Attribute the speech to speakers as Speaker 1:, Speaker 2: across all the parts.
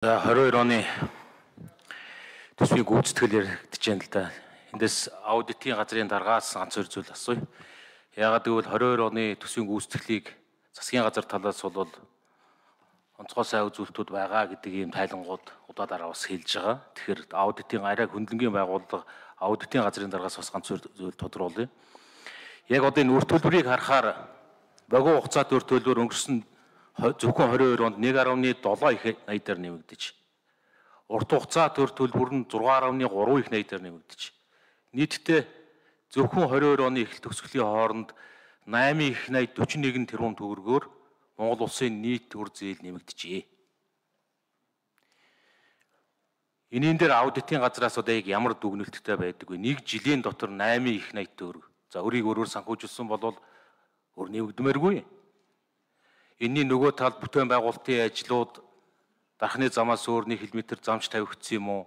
Speaker 1: 22 оны төсвийн гүйцэтгэл яригдж байна л да. Эндээс аудитын газрын дараагаас ганц хоёр зүйл асууя. Яагаад гэвэл 22 оны төсвийн гүйцэтгэлийг засгийн газар талаас бол онцгой сайн үзүүлэлтүүд байгаа гэдэг ийм тайлангууд удаа дараа бас хэлж байгаа. Тэгэхээр аудитын арай хөндлөнгийн байгууллага аудитын газрын дараагаас бас ганц зүйл тодруулъя. Яг одоо энэ үр төлбөрийг харахаар богино хугацаат үр төлбөр өнгөрсөн зөвхөн 22 онд 1.7 их найдаар нэмэгдэж, урт хугацаат төр төлбөр нь 6.3 их найдаар нэмэгдэж, нийтдээ зөвхөн 22 оны эхлэл төгсгөлийн хооронд 8 их найд 41 тэрбум төгрөгөөр Монгол улсын нийт төр зээл нэмэгдэжээ. Энийн дээр аудитын газраас одоо яг ямар дүгнэлттэй байдаггүй. Нэг жилийн дотор 8 их найд төгрөг. За өрийг өөрөөр санхүүжилсэн бол өр нэмэгдмээргүй. Энэний нөгөө талд бүтээн байгуулалтын ажлууд дархны замаас өөр 1 км замч тавигдсан юм уу?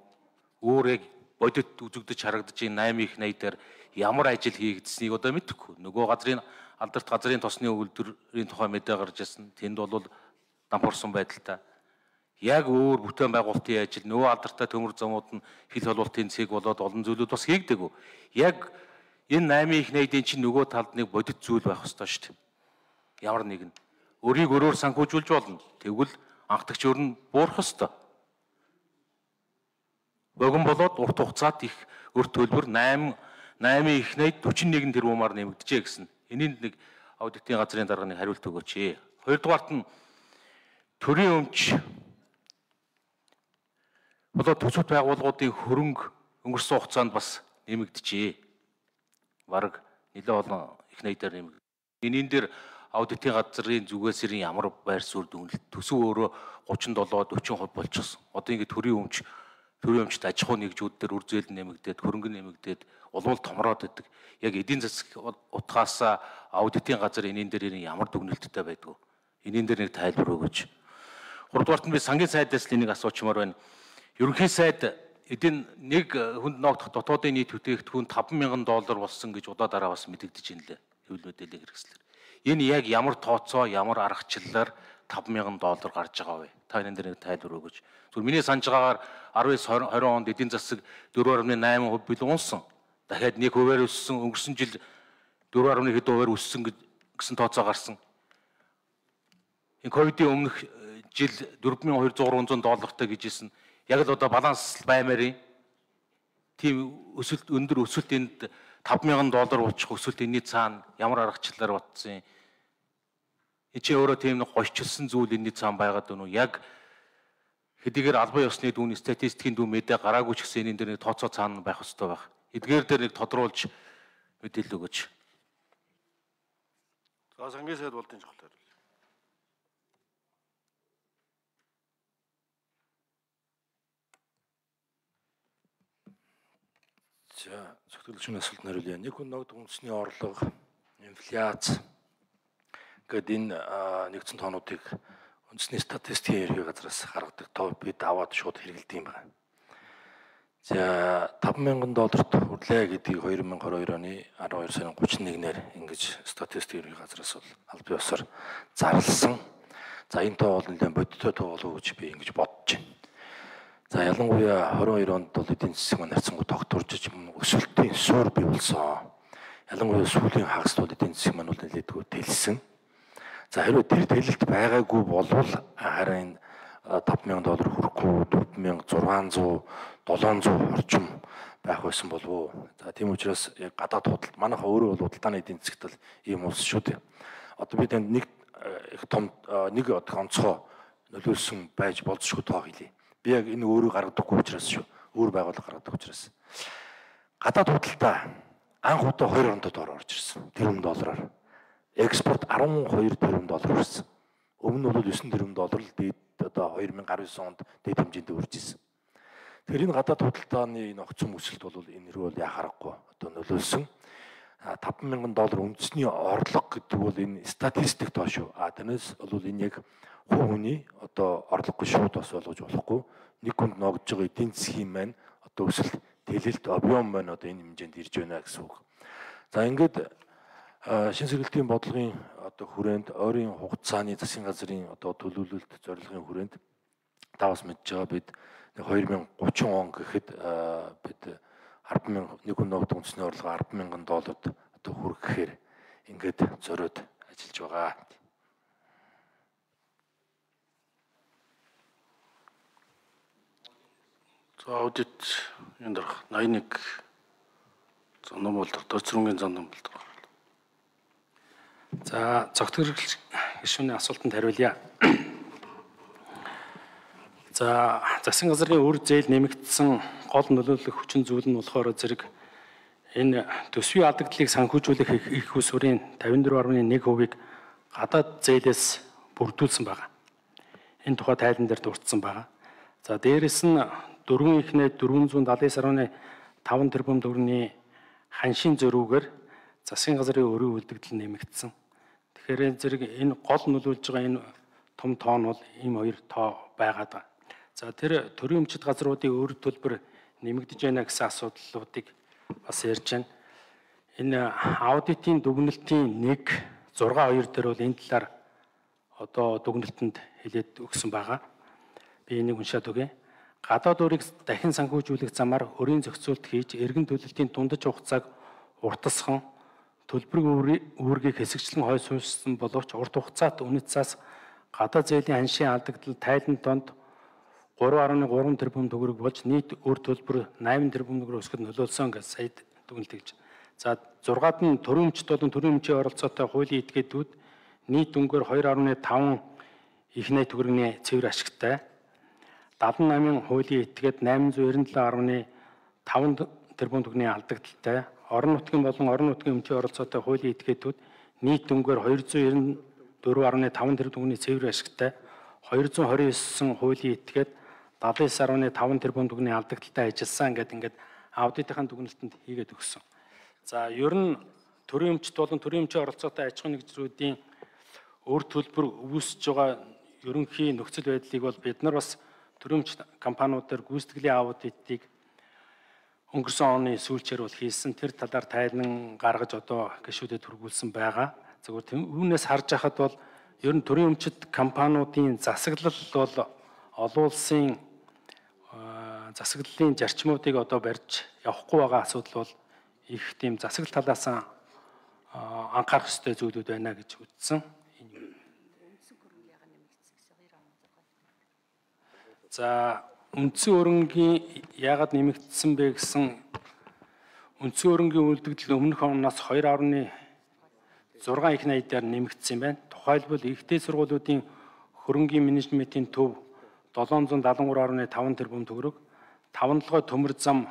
Speaker 1: Өөр яг бодит үзэгдэж харагдаж энэ 8 их найдаар ямар ажил хийгдсэнийг одоо мэдэхгүй. Нөгөө газрын алдарт газрын тосны үйлдвэрийн тухай мэдээ гарч ирсэн. Тэнд бол дампуурсан байдалтай. Яг өөр бүтээн байгуулалтын ажил нөгөө алдартай төмөр замууд нь хил холболтын цэг болоод олон зүйлүүд бас хийгдэггүй. Яг энэ 8 их найдын чинь нөгөө талд нэг бодит зүйл байх ёстой шүү дээ. Ямар нэгэн өрийг өрөөр санхүүжүүлж болно. Тэгвэл анхдагч өр нь буурах ёстой. Богино болоод урт хугацаат их өр төлбөр 8 их найд 41 тэрбумаар нэмэгдэжээ гэсэн. Энийнд нэг аудитын газрын дарганы хариулт өгөөч. Хоёрдугаарт нь төрийн өмч болоод төсөвт байгууллагуудын хөрөнгө өнгөрсөн хугацаанд бас нэмэгдэжээ. Бараг нэлээд олон их найдаар нэмэгдэ. Энийн дээр аудитын газрын зүгээс ямар байр суурь дүгнэлт төсөв өөрөө 37-40% болчихсон. Одоо ингэ төрийн өмчт аж ахуй нэгжүүд дээр үр зээл нэмэгдээд хөрөнгө нэмэгдээд улмал томроод идэг. Яг эдийн засаг утгаас аудитын газар энийн дээр ямар дүгнэлттэй байдгүй. Энийн дээр нэг тайлбар өгөөч. Гуравдугаарт нь би сангийн сайдаас л энийг асуучмаар байна. Ерөнхий сайд эдийн нэг хүнд ногдох дотоодын нийт бүтээгдэхүүн $5,000 болсон гэж удаа дараа бас мэдэгдэж байна лээ. Хэвлэл мэдээллийн хэрэгслэр. Энэ яг ямар тооцоо, ямар аргачлалаар $5,000 гарч байгаа вэ? Та энэ дээр нэг тайлбар өгөөч. Зүгээр миний санаж байгаагаар 19-20 онд эдийн засаг 4.8% бил унсан. Дахиад 1% өссөн, өнгөрсөн жил 4.1% өссөн гэсэн тооцоо гарсан. Энэ ковидын өмнөх жил $4,200-300 гэжсэн. Яг л одоо баланс баймаар тийм өсөлт өндөр өсөлт энд $5,000 болчих өсөлт энэний цаана ямар аргачлалаар батсан юм. Эцээ өөрөө тийм нэг гойчилсан зүйл энэний цаана байгаад байна уу? Яг хэдийгээр албан ёсны дүүн статистикийн дүүн мэдээ гараагүй ч гэсэн энэ дээр нэг тооцоо цаана байх ёстой байх. Эдгээр дээр нэг тодруулж мэдээлэл өгөөч.
Speaker 2: За сангийн сайд болдын чухал хариулъя. За зөвхөлчний асуултанд хариулъя. Нэг хүн ногд үндэсний орлого, инфляц гэдэг энэ нэгдсэн тоонуудыг үндэсний статистикийн ерхий газраас гаргадаг тоо бид аваад шууд хэрэгэлдэг юм байна. За $5,000 хүрлээ гэдгийг 2022 оны 12 сарын 31-нд ингэж статистикийн ерхий газраас бол аль бие усаар зарласан. За энэ тоо бол нэлээд бодиттой тоо болов уу гэж би ингэж бодож байна. За ялангуяа 22 онд бол эдийн засаг маань харьцангуй тогтворж өсөлтийн суур бий болсон. Ялангуяа сүүлийн хагаст бол эдийн засаг маань бол нэлээдгүй тэлсэн. За хэрвээ тэр тэлэлт байгаагүй болвол харин $5,000 хүрэхгүй 4,600, 700 орчим байх байсан болов уу. За тийм учраас яг гадаад худалдаа манайха өөрөө бол худалдааны эдийн засагт л ийм улс шүү дээ. Одоо би танд нэг их том нэг онцгой нөлөөлсөн байж болзошгүй тоо хэлье. Би яг энэ өөрөө гаргадаггүй учраас шүү. Өөр байгууллага гаргадаг учраас. Гадаад худалдаа анх удаа 2 онд орж ирсэн. $1 экспорт $12 хүрсэн. Өмнө нь бол $9 л дээд одоо 2019 онд дээд хэмжээнд үрж ирсэн. Тэгэхээр энэ гадаад худалдааны нөхцөл өсөлт бол энэ рүү яхаарахгүй одоо нөлөөлсөн. $5,000 үндэсний орлого гэдэг бол энэ статистик тоо шүү. Тэрнээс бол энэ яг хувь хүний одоо орлогогүй шууд бас болгож болохгүй. Нэг хүнд ногдож байгаа эдийн засгийн маань одоо өсөлт тэлэлт объем маань одоо энэ хэмжээнд ирж байна гэсэн үг. За ингээд шин сэргэлтийн бодлогын одоо хүрээнд ойрын хугацааны засгийн газрын одоо төлөвлөлт зорилгын хүрээнд Тавас мэдж байгаа бид 2030 он гэхэд бид 10,000 нэг хүн ногд үндэсний орлого 10,000 долларт одоо хүрэхээр ингээд зориод ажиллаж байгаа.
Speaker 3: За аудит энэ дарах 81 зам бол дөрцөрөнгийн зам бол.
Speaker 4: За цогтгөрөл гишүүний асуултанд хариулъя. За засгийн газрын үр зээл нэмэгдсэн гол нөлөөлөх хүчин зүйл нь болохоор зэрэг энэ төсвийн алдагдлыг санхүүжүүлэх их усурын 54.1%-ийг гадаад зээлээс бүрдүүлсэн байна. Энэ тухай тайлан дээр дурдсан байна. За дээрэс нь дөрвөн ихнээ 479.5 тэрбум төгрөгийн ханшийн зөрүүгээр засгийн газрын өрийн үлдэгдэл нэмэгдсэн. Тэгэхээр зэрэг энэ гол нөлөөлж байгаа энэ том тоо нь бол ийм хоёр тоо байгаад байна. За тэр төрийн өмчит газруудын өр төлбөр нэмэгдэж байна гэсэн асуудлуудыг бас ярьж байна. Энэ аудитын дүгнэлтийн 1.6.2 дээр бол энэ талаар одоо дүгнэлтэнд хэлээд өгсөн байгаа. Би энийг уншаад өгье. Гадаад өрийг дахин санхүүжүүлэх замаар өрийн зохицуулт хийж эргэн төлөлтийн дундаж хугацааг уртасхан төлбөр үүргийг хэсэгчлэн хой суурьсан боловч урт хугацаат үнэт цаас гадаад зээлийн ханшийн алдагдал тайлан донд 3.3 тэрбум төгрөг болж нийт өр төлбөр 8 тэрбум төгрөг өсгөхөд нөлөөлсөн гэж сая дүгнэлт. За 6-ад нь төрийн өмчт болон төрийн өмчийн оролцоотой хуулийн этгээдүүд нийт өнгөөр 2.5 их найт төгрөгийн цэвэр ашигтай. 78 хуулийн этгээд 897.5 тэрбум төгрөгийн алдагдaltaй. Орон нутгийн болон орон нутгийн өмчийн оролцоотой хуулийн этгээдүүд нийт өнгөөр 294.5 тэрбум төгрөгийн цэвэр ашигтай. 229 хуулийн этгээд 79.5 тэрбум төгрөгийн алдагдaltaй ажилласан ингээд аудитын дүгнэлтэнд хийгээд өгсөн. За ер нь төрийн өмчт болон төрийн өмчийн оролцоотой аж ахуйн нэгжлүүдийн өр төлбөр үүсэж байгаа ерөнхий нөхцөл байдлыг бол бид нар бас төрийн өмчт компаниудаар гүйцэтгэлийн аудитыг өнгөрсөн оны сүүлчээр бол хийсэн. Тэр талаар тайлан гаргаж одоо гишүүдэд хүргүүлсэн байгаа. Зөвхөн үүнээс харж байхад бол ер нь төрийн өмчт компаниудын засаглал бол олон улсын засаглалын зарчмуудыг одоо барьж явахгүй байгаа асуудал бол их тийм засаглал талаас нь анхаарах ёстой зүйлүүд байна гэж үзсэн. За үндсэн өрөнгийн яагаад нэмэгдсэн бэ гэсэн үндсэн өрөнгийн үлдэгдэл өмнөх оноос 2.6 их найдаар нэмэгдсэн байна. Тухайлбал ихтэй сургуулиудын хөрөнгийн менежментийн төв 773.5 тэрбум төгрөг, 5-7 төмөр зам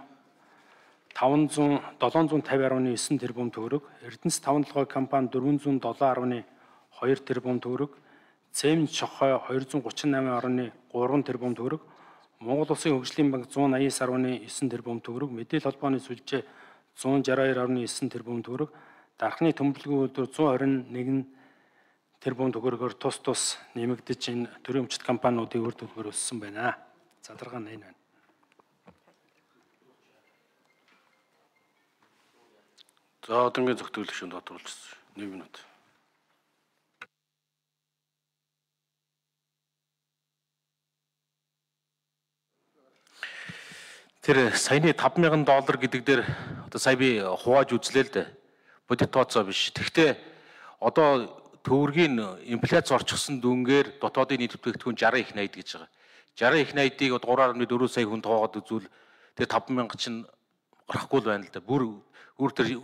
Speaker 4: 750.9 тэрбум төгрөг, Эрдэнэс 5-7 компани 407.2 тэрбум төгрөг, Цемент шохой 238.3 тэрбум төгрөг, Монгол Улсын хөгжлийн банк 189.9 тэрбум төгрөг, мэдээлэл холбооны сүлжээ 162.9 тэрбум төгрөг, дархны төмөрлөгийн үйлдвэр 121 тэрбум төгрөгөөр тус нэмэгдэж энэ төрийн өмчт компаниудын үр төлбөр өссөн байна. Задаргаа нь энэ байна.
Speaker 3: За одонгийн зөвтгөлөх шин дотруулж 1 минут.
Speaker 1: Тэр саяны $5,000 гэдэг дээр одоо сая би хувааж үзлээ л дээ. Бодит тооцоо биш. Тэгвэл одоо төгрөгийн инфляц орчихсон дүнгээр дотоодын нийт бүтээгдэхүүн 60 их найд гэж байгаа. 60 их найдыг 3.4 сая хүн тоогоод үзвэл тэр 5,000 чинь гарахгүй л байна л да. Бүр тэр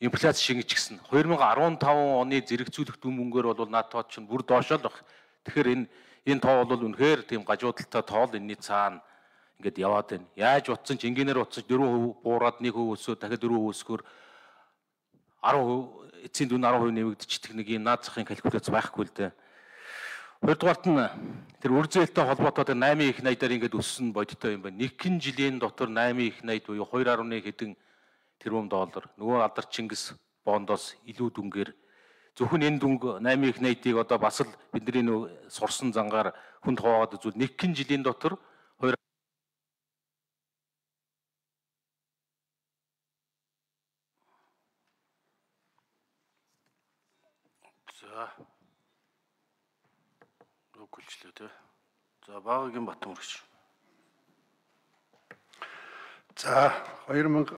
Speaker 1: инфляц шингэж гисэн. 2015 оны зэрэгцүүлэх дүн мөнгөөр бол наад тоо чинь бүр доошоо л баг. Тэгэхээр энэ тоо бол үнэхээр тийм гажуудалтай тоол энэний цаана ингээд яваад байна. Яаж утсан ч энгийнээр утсаж 4% буураад 1% өсөө дахиад 4% өсгөр 10% эцсийн дүн 10% нэмэгдчихдэг нэг юм наад захын калькуляц байхгүй л дээ. Хоёрдугаарт нь тэр үр зээлтэй холбоотой 8 их найдаар ингээд өссөн бодиттой юм байна. Нэг жилийн дотор 8 их найд буюу 2.1 хэдэн тэрбум доллар. Нөгөө алдар Чингис бондоос илүү дүнгээр зөвхөн энэ дүнг 8 их найдыг одоо бас л бидний нөө сурсан зангаар хүнд хаваагаад үзвэл нэг жилийн дотор
Speaker 3: За. Өгүүлчлээ тий. За Багагийн Батмүргч.
Speaker 5: За 2000